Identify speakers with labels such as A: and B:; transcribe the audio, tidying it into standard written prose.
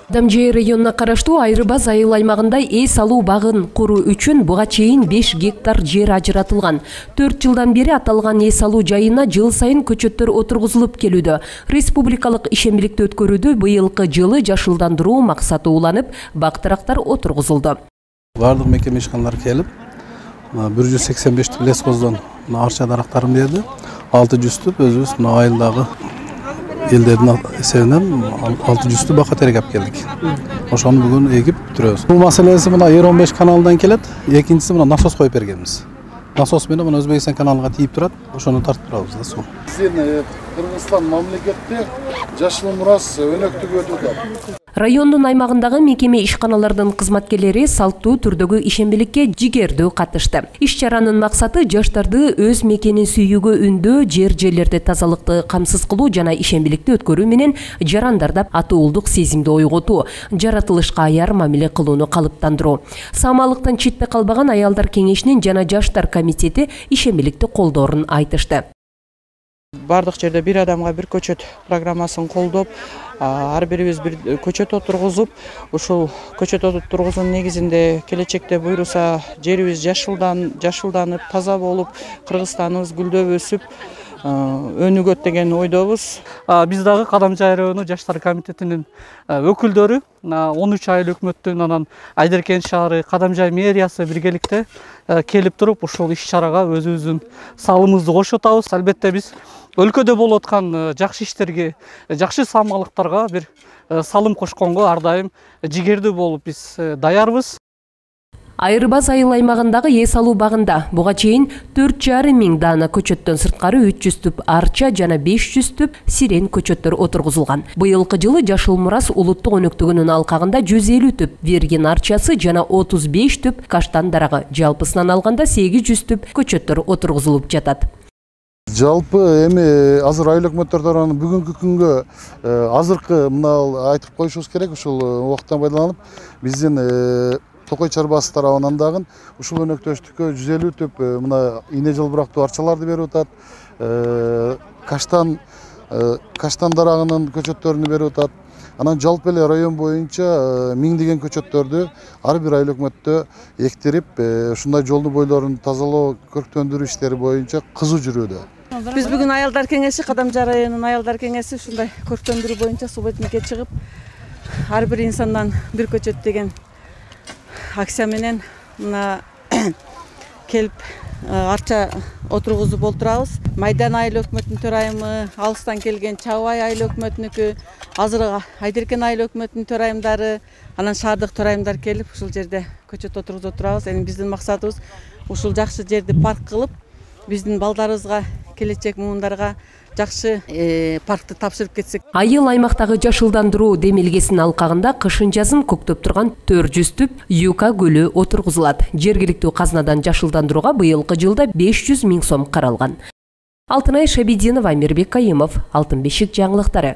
A: Дамжай районуна караштуу Айрыбас айыл аймагында эс алуу багын куруу үчүн буга чейин 5 гектар жер ажыратылган. 4 жылдан бери аталган эс алуу жайына жыл сайын көчөттөр отургузулуп келүүдө. Республикалык ишембиликти өткөрүүдө быйылкы жылы жашылдандыруу максаты уланып, бактырактар отургузулду.
B: Бардык мекеме ишканалар келип, 185 лескоздон арча дарактарын берди. 600 өзүбүз айылдагы элдердин эсебинен 600 бака терек алып келдик. Ошону бүгүн эгип бүтүрөбүз. Бул маселеси мына Ер-15 каналынан келет. Экинчиси мына насос коюп бергенбиз. Насос менен мына Өзбекстан каналына тийип турат. Ошону тартып турабыз да суу.
C: Биздин Кыргызстан мамлекетте жашыл мурас өнөктүгү өтүп атат.
A: Райондун аймагындагы мекеме ишканалардын кызматкерлери салттуу түрдөгү ишембиликке жигердүү катышты. Иш-чаранын максаты жаштарды өз мекенин сүйүүгө үндөө, жерлерде тазалыкты камсыз кылуу жана ишембиликти өткөрүү менен жарандарда атуулдук сезимди ойготуу, жаратылышка аяр мамиле кылууну калыптандыруу. Самалыктан четте калбаган аялдар кеңешинин жана жаштар комитети ишембиликти колдоорун айтышты.
D: Бардык жерде бир адамга бир көчөт программасын колдоп, ар бирибиз бир көчөт отургузуп, ушул көчөт отургузуунун негизинде келечекте буйруса жерибиз жашылданып, таза болуп, Кыргызстаныбыз гүлдөп өсүп, өнүгөт деген ойдобуз. Биз дагы Кадамжай району жаштар комитетинин өкүлдөрү 13 айыл өкмөттүн анан Айдеркен шаары, Кадамжай мэриясы биргеликте келип туруп, ушул иш-чарага өзүбүздүн салымыбызды кошуп атабыз. Албетте биз өлкөдө болуп аткан жакшы иштерге, жакшы самалыктарга бир салым кошконго ар дайым жигердүү болуп биз даярбыз.
A: Айрыбас айыл аймагындагы эс алуу багында буга чейин 4,5 миң даана көчөттөн сырткары 300 түп арча жана 500 түп сирен көчөттөр отургузулган. Быйылкы жылы жашыл мурас улуттук өнөктүгүнүн алкагында 150 түп верген арчасы жана 35 түп каштан дарагы, жалпысынан алганда 800 түп көчөттөр отургузулуп жатат.
C: Жалпы эми азыр айыл өкмөттөр тарабынан бүгүнкү күнгө азыркы мына айтып коюшубуз керек, ушул убакыттан пайдаланып биздин Токой чарбасы тарабынан дагы ушул өнөктөштүккө 150 түп мына ийне жылбырактуу арчаларды берип атат. Каштан дарагынын көчөттөрүнү берип атат. Анан жалпы эле район боюнча миңдеген көчөттөрдү ар бир айыл өкмөттө эктирип, ушундай жолдун бойлорун тазалоо, көрктөндүрүү иштери боюнча кызуу жүрүүдө.
E: Биз бүгүн аялдар кеңеши, Кадамжай районунун аялдар кеңеси ушундай көрктөндүрүү боюнча субботникке чыгып, ар бир инсандан бир көчөт деген акция менен мына келип арча отургузуп олтурабыз. Майдан айыл өкмөтүнүн төрайымы, алыстан келген Чабай айыл өкмөтүнүкү, азыр Айдеркен айыл өкмөтүнүн төрайымдары, анан шаардык төрайымдар келип ушул жерде көчөт отургузуп турабыз. Эми биздин максатыбыз ушул жакшы жерди парк кылып, биздин балдарыбызга, келечек муундарга жакшы паркты тапшырып кетсек.
A: Айыл аймактагы жашылдандыруу демилгесинин алкагында кышын-жазын көктөп турган 400 түп Юка гүлү отургузулат. Жергиликтүү казнадан жашылдандырууга быйылкы жылда 500 миң сом каралган. Алтынай Шабидинова, Мирбек Кайымов, Алтын бешик жаңылыктары.